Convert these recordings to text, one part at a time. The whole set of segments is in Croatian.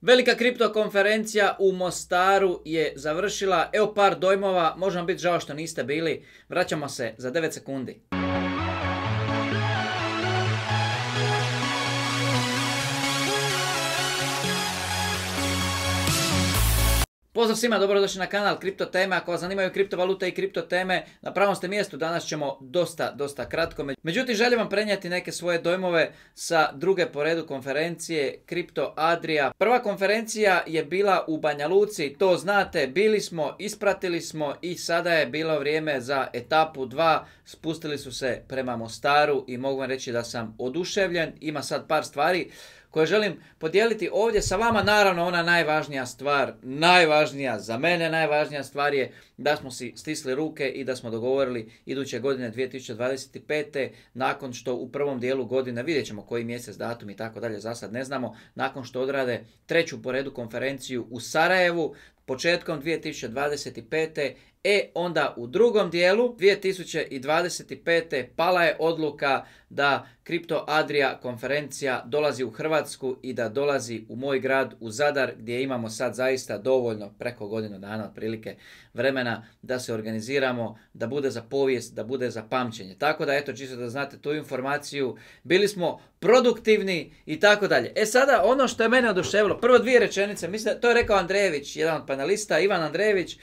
Velika kripto konferencija u Mostaru je završila. Evo par dojmova, može vam biti žao što niste bili. Vraćamo se za 9 sekundi. Pozdrav svima, dobrodošli na kanal Kripto teme. Ako vas zanimaju kriptovalute i kripto teme, na pravom ste mjestu. Danas ćemo dosta kratko. Međutim, želim vam prenijeti neke svoje dojmove sa druge po redu konferencije Kripto Adria. Prva konferencija je bila u Banja Luci, to znate, bili smo, ispratili smo i sada je bilo vrijeme za etapu 2. Spustili su se prema Mostaru i mogu vam reći da sam oduševljen. Ima sad par stvari koje želim podijeliti ovdje sa vama. Naravno, ona najvažnija stvar, za mene najvažnija stvar je da smo si stisli ruke i da smo dogovorili iduće godine 2025. nakon što u prvom dijelu godine, vidjet ćemo koji mjesec, datum i tako dalje, za sad ne znamo, nakon što odrade treću po redu konferenciju u Sarajevu, početkom 2025. Onda u drugom dijelu 2025. pala je odluka da Kripto Adria konferencija dolazi u Hrvatsku i da dolazi u moj grad, u Zadar, gdje imamo sad zaista dovoljno, preko godinu dana otprilike, vremena da se organiziramo, da bude za povijest, da bude za pamćenje. Tako da, eto, čisto da znate tu informaciju, bili smo produktivni i tako dalje. Sada ono što je mene oduševilo, prvo dvije rečenice, mislim, to je rekao Andrejević, jedan od panelista, Ivan Andrejević.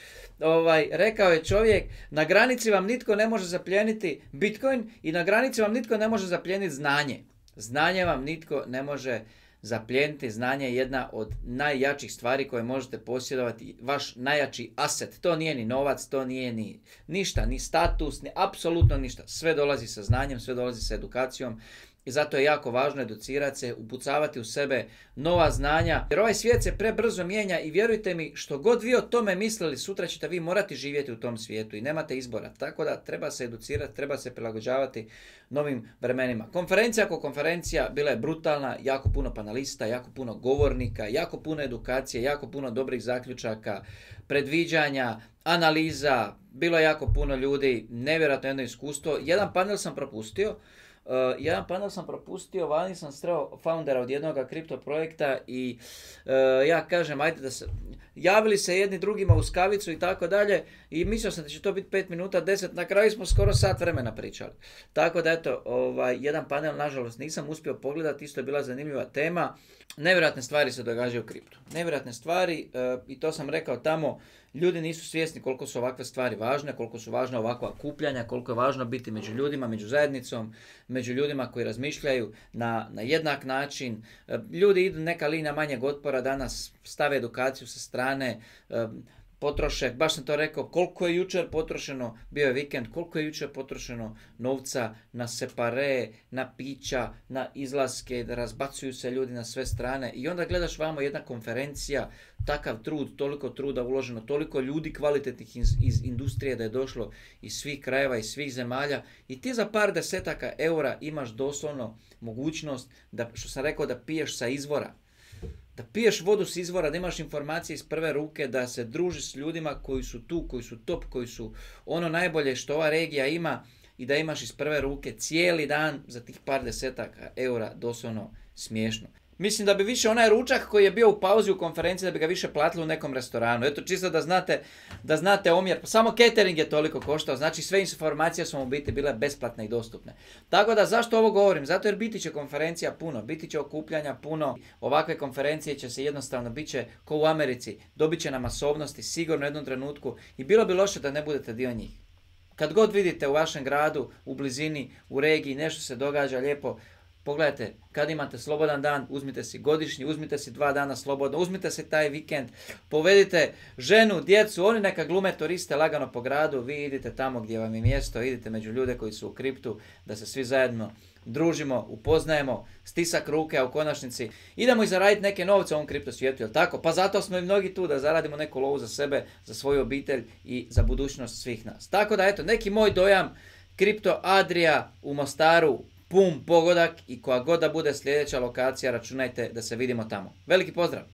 Rekao je čovjek, na granici vam nitko ne može zaplijeniti Bitcoin i na granici vam nitko ne može zaplijeniti znanje. Znanje vam nitko ne može zaplijeniti. Znanje je jedna od najjačih stvari koje možete posjedovati, vaš najjači aset. To nije ni novac, to nije ni ništa, ni status, ni apsolutno ništa. Sve dolazi sa znanjem, sve dolazi sa edukacijom. I zato je jako važno educirati se, upucavati u sebe nova znanja. Jer ovaj svijet se prebrzo mijenja i vjerujte mi, što god vi o tome mislili, sutra ćete vi morati živjeti u tom svijetu i nemate izbora. Tako da treba se educirati, treba se prilagođavati novim vremenima. Konferencija ako konferencija bila je brutalna, jako puno panelista, jako puno govornika, jako puno edukacije, jako puno dobrih zaključaka, predviđanja, analiza, bilo je jako puno ljudi, nevjerojatno jedno iskustvo. Jedan panel sam propustio, vani sam sreo foundera od jednog kripto projekta i ja kažem, ajde da se, javili se jedni drugima uz kavicu i tako dalje i mislio sam da će to biti 5 minuta, 10, na kraju smo skoro sat vremena pričali. Tako da eto, jedan panel nažalost nisam uspio pogledati, isto je bila zanimljiva tema. Nevjerojatne stvari se događaju u kriptu. Nevjerojatne stvari i to sam rekao tamo, ljudi nisu svjesni koliko su ovakve stvari važne, koliko su važna ovakva okupljanja, koliko je važno biti među ljudima, među zajednicom, među ljudima koji razmišljaju na jednak način. Ljudi idu neka linija manjeg otpora, danas stave edukaciju sa strane, potroše, baš sam to rekao, koliko je jučer potrošeno, bio je vikend, koliko je jučer potrošeno novca na separe, na pića, na izlaske, da razbacuju se ljudi na sve strane i onda gledaš vamo jedna konferencija, takav trud, toliko truda uloženo, toliko ljudi kvalitetnih iz industrije da je došlo iz svih krajeva, iz svih zemalja i ti za par desetaka eura imaš doslovno mogućnost da, što sam rekao, da piješ sa izvora. Da piješ vodu s izvora, da imaš informacije iz prve ruke, da se družiš s ljudima koji su tu, koji su top, koji su ono najbolje što ova regija ima i da imaš iz prve ruke cijeli dan za tih par desetaka eura, doslovno smiješno. Mislim da bi više onaj ručak koji je bio u pauzi u konferenciji, da bi ga više platili u nekom restoranu. Eto, čisto da znate omjer. Samo catering je toliko koštao, znači sve informacije su mu biti bile besplatne i dostupne. Tako da zašto ovo govorim? Zato jer biti će konferencija puno, biti će okupljanja puno. Ovakve konferencije će se jednostavno, bit će ko u Americi, dobit će na masovnosti sigurno u jednom trenutku i bilo bi loše da ne budete dio njih. Kad god vidite u vašem gradu, u blizini, u regiji, nešto se događa lijepo, pogledajte, kad imate slobodan dan, uzmite si godišnji, uzmite si 2 dana slobodno, uzmite si taj vikend, povedite ženu, djecu, oni neka glume turiste lagano po gradu, vi idite tamo gdje vam je mjesto, idite među ljude koji su u kriptu, da se svi zajedno družimo, upoznajemo, stisak ruke, a u konačnici idemo i zaraditi neke novce u ovom kripto svijetu, jel tako? Pa zato smo i mnogi tu da zaradimo neku lovu za sebe, za svoju obitelj i za budućnost svih nas. Tako da eto, neki moj dojam, Kripto Adria u Mostaru, pum pogodak i koja god da bude sljedeća lokacija, računajte da se vidimo tamo. Veliki pozdrav!